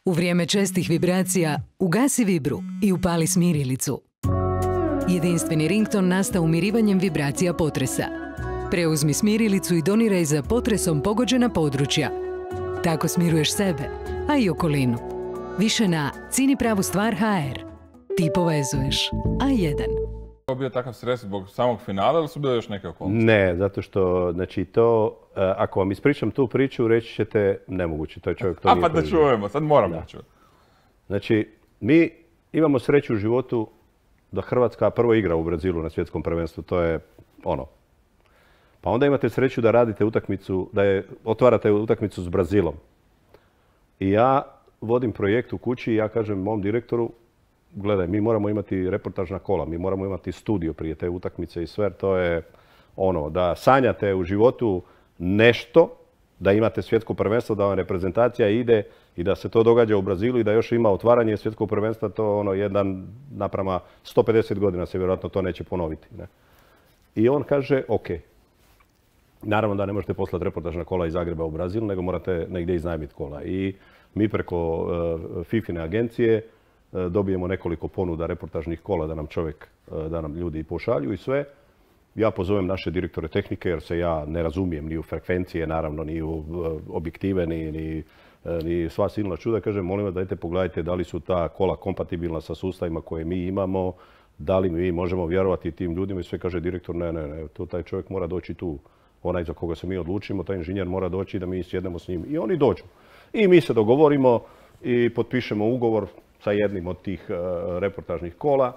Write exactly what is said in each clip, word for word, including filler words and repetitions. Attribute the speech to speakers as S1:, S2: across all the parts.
S1: U vrijeme čestih vibracija ugasi vibru i upali smirilicu. Jedinstveni rington nastao umirivanjem vibracija potresa. Preuzmi smirilicu i doniraj za potresom pogođena područja. Tako smiruješ sebe, a i okolinu. Više na Cini pravu stvar ha er. Ti povezuješ. A jedan.
S2: Je bio takav stres zbog samog finala ili su bile još neke okolnosti?
S3: Ne, zato što, znači to, ako vam ispričam tu priču, reći ćete nemoguće, to je čovjek to
S2: A
S3: nije
S2: pa da
S3: proživio.
S2: čujemo, sad moramo da čujemo.
S3: Znači, mi imamo sreću u životu da Hrvatska prvo igra u Brazilu na svjetskom prvenstvu, to je ono. Pa onda imate sreću da radite utakmicu, da je, otvarate utakmicu s Brazilom. I ja vodim projekt u kući i ja kažem mom direktoru, gledaj, mi moramo imati reportažna kola, mi moramo imati studio prije te utakmice i sve, to je ono, da sanjate u životu nešto, da imate svjetsko prvenstvo, da vam reprezentacija ide i da se to događa u Brazilu i da još ima otvaranje svjetskog prvenstva, to ono, jedan naprama sto pedeset godina se vjerojatno to neće ponoviti. Ne? I on kaže, ok, naravno da ne možete poslati reportažna kola iz Zagreba u Brazil, nego morate negdje iznajmiti kola. I mi preko uh, Fifine agencije uh, dobijemo nekoliko ponuda reportažnih kola da nam čovjek, uh, da nam ljudi pošalju i sve. Ja pozovem naše direktore tehnike jer se ja ne razumijem ni u frekvencije, naravno ni u uh, objektive, ni, ni, uh, ni sva silna čuda. Kažem, molim vas dajte pogledajte da li su ta kola kompatibilna sa sustavima koje mi imamo, da li mi možemo vjerovati tim ljudima i sve. Kaže direktor, ne, ne, ne, to taj čovjek mora doći tu, onaj za koga se mi odlučimo, taj inženjer mora doći da mi sjednemo s njim. I oni dođu. I mi se dogovorimo i potpišemo ugovor sa jednim od tih uh, reportažnih kola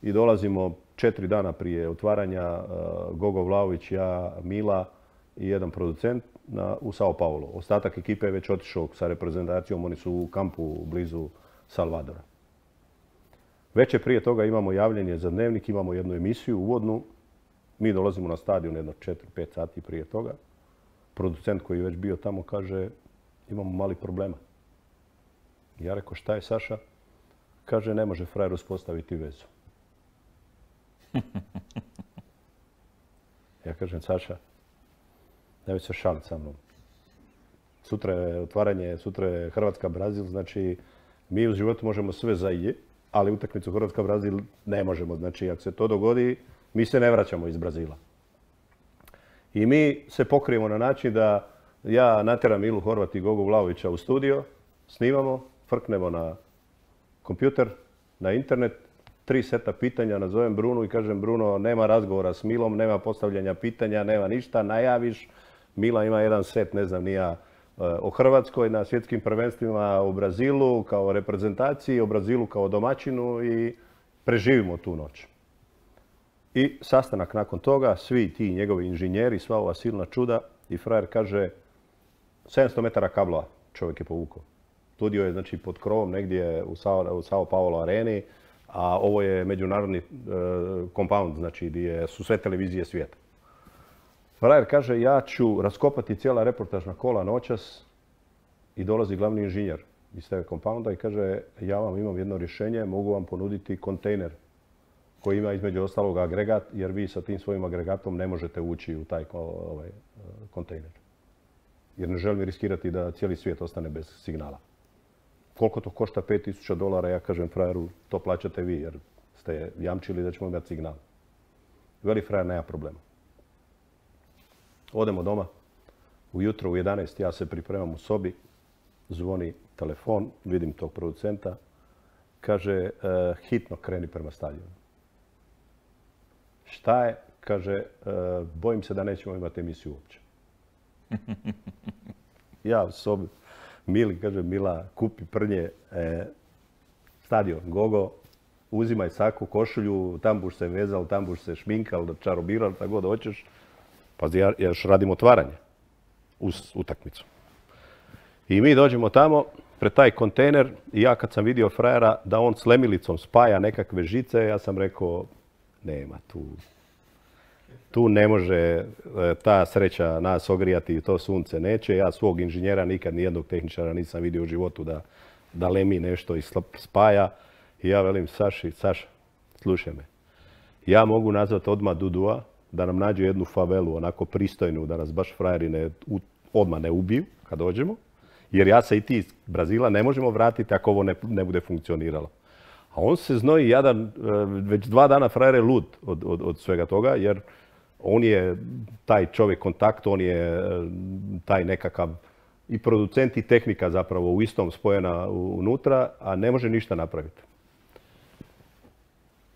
S3: i dolazimo četiri dana prije otvaranja, uh, Gogo Vlaović, ja, Mila i jedan producent na, u Sao Paulo. Ostatak ekipe je već otišao sa reprezentacijom, oni su u kampu blizu Salvadora. Večer prije toga imamo javljanje za Dnevnik, imamo jednu emisiju uvodnu. Mi dolazimo na stadion jedno četiri pet sati prije toga. Producent koji je već bio tamo kaže, imamo mali problema. Ja rekao, šta je Saša? Kaže, ne može frajer uspostaviti vezu. Ja kažem, Saša, nemoj se šaliti sa mnom. Sutra je otvaranje, sutra je Hrvatska-Brazil, znači mi u životu možemo sve za je, ali utakmicu Hrvatska-Brazil ne možemo. Znači, ako se to dogodi, mi se ne vraćamo iz Brazila. I mi se pokrijemo na način da ja natjeram Milu Horvat i Gogu Vlaovića u studio, snimamo, frknemo na kompjuter, na internet, tri seta pitanja, nazovem Brunu i kažem Bruno, nema razgovora s Milom, nema postavljanja pitanja, nema ništa, najaviš. Mila ima jedan set, ne znam ni ja, o Hrvatskoj na svjetskim prvenstvima u Brazilu kao reprezentaciji, o Brazilu kao domaćinu i preživimo tu noć. I sastanak nakon toga, svi ti njegovi inženjeri, sva ova silna čuda i frajer kaže sedamsto metara kablova čovjek je povukao. Studio je znači pod krovom negdje u Sao, u Sao Paulo areni, a ovo je međunarodni compound, uh, znači gdje su sve televizije svijeta. Frajer kaže, ja ću raskopati cijela reportažna kola noćas i dolazi glavni inženjer iz tebe compounda i kaže, ja vam imam jedno rješenje, mogu vam ponuditi kontejner koji ima između ostalog agregat, jer vi sa tim svojim agregatom ne možete ući u taj ovaj, kontejner. Jer ne želim riskirati da cijeli svijet ostane bez signala. Koliko to košta? pet tisuća dolara, ja kažem frajeru, to plaćate vi jer ste jamčili da ćemo imati signal. Veli frajer, nema problema. Odemo doma, ujutro u jedanaest ja se pripremam u sobi, zvoni telefon, vidim tog producenta, kaže, e, hitno kreni prema stadionu. Šta je? Kaže, e, bojim se da nećemo imati emisiju uopće. Ja u sobi, Mili, kaže, Mila, kupi prnje, e, stadion, Gogo, uzimaj saku, košulju, tam buš se vezal, tam buš se šminkal, čarobiral, tako god hoćeš. Pazi, ja još radim otvaranje uz utakmicu. I mi dođemo tamo, pred taj kontejner i ja kad sam vidio frajera da on s lemilicom spaja nekakve žice, ja sam rekao, nema tu. Tu ne može ta sreća nas ogrijati i to sunce neće. Ja svog inženjera nikad nijednog tehničara nisam vidio u životu da, da lemi nešto i spaja. I ja velim Saši, Saša, slušaj me. Ja mogu nazvati odmah Dudua da nam nađe jednu favelu, onako pristojnu, da nas baš frajeri ne, odmah ne ubiju kad dođemo. Jer ja se i ti iz Brazila ne možemo vratiti ako ovo ne, ne bude funkcioniralo. A on se znoji jadan, već dva dana frajer je lud od, od, od svega toga, jer on je taj čovjek kontakt, on je taj nekakav i producent i tehnika zapravo u istom spojena unutra, a ne može ništa napraviti.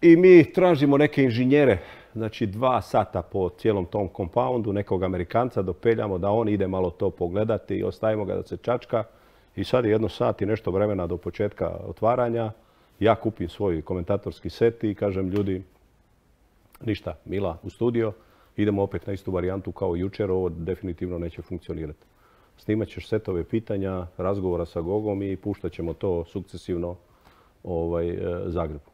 S3: I mi tražimo neke inženjere, znači dva sata po cijelom tom kompoundu, nekog Amerikanca dopeljamo da on ide malo to pogledati i ostavimo ga da se čačka. I sad je jedno sat i nešto vremena do početka otvaranja. Ja kupim svoj komentatorski set i kažem ljudi, ništa, Mila u studio, idemo opet na istu varijantu kao jučer, ovo definitivno neće funkcionirati. Snimat ćeš setove pitanja, razgovora sa Gogom i puštat ćemo to sukcesivno ovaj, Zagrebu.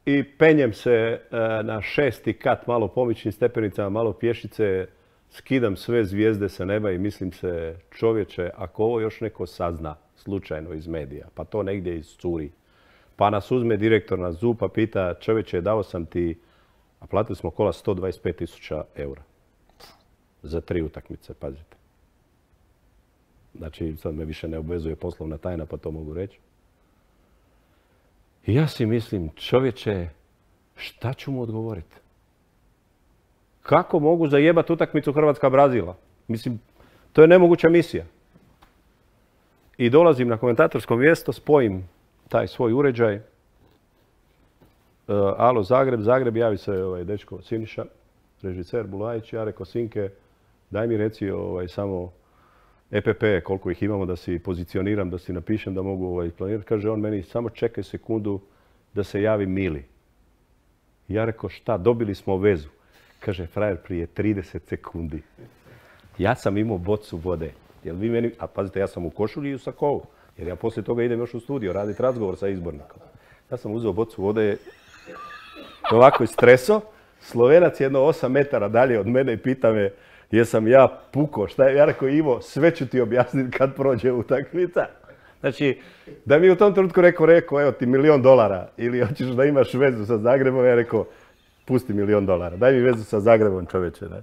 S3: I penjem se na šesti kat, malo pomičnim stepenicama, malo pješice, skidam sve zvijezde sa neba i mislim se, čovječe, ako ovo još neko sazna slučajno iz medija, pa to negdje iscuri, pa nas uzme direktor na zub pa pita, čovječe, dao sam ti, a platili smo kola sto dvadeset pet tisuća eura za tri utakmice, pazite. Znači, sad me više ne obvezuje poslovna tajna, pa to mogu reći. I ja si mislim, čovječe, šta ću mu odgovoriti? Kako mogu zajebati utakmicu Hrvatska-Brazila? Mislim, to je nemoguća misija. I dolazim na komentatorsko mjesto, spojim taj svoj uređaj. Uh, alo, Zagreb, Zagreb, javi se ovaj dečko Siniša, režiser Bulajić. Ja rekao, Sinke, daj mi reci ovaj, samo E P P, koliko ih imamo, da si pozicioniram, da si napišem, da mogu ovaj, planirati. Kaže on meni, samo čekaj sekundu da se javi Mili. Ja rekao, šta, dobili smo vezu. Kaže, frajer, prije trideset sekundi. Ja sam imao bocu vode. Jel vi meni, a pazite, ja sam u košulji i u sakovu. Jer ja poslije toga idem još u studio raditi razgovor sa izbornikom. Ja sam uzeo bocu vode, ovako istreso. Slovenac jedno osam metara dalje od mene i pita me, jesam ja puko, šta je? Ja rekao, Ivo, sve ću ti objasniti kad prođe utakmica. Znači, da mi u tom trenutku rekao, rekao, evo ti milion dolara ili hoćeš da imaš vezu sa Zagrebom, ja rekao, pusti milion dolara, daj mi vezu sa Zagrebom, čoveče. Ne?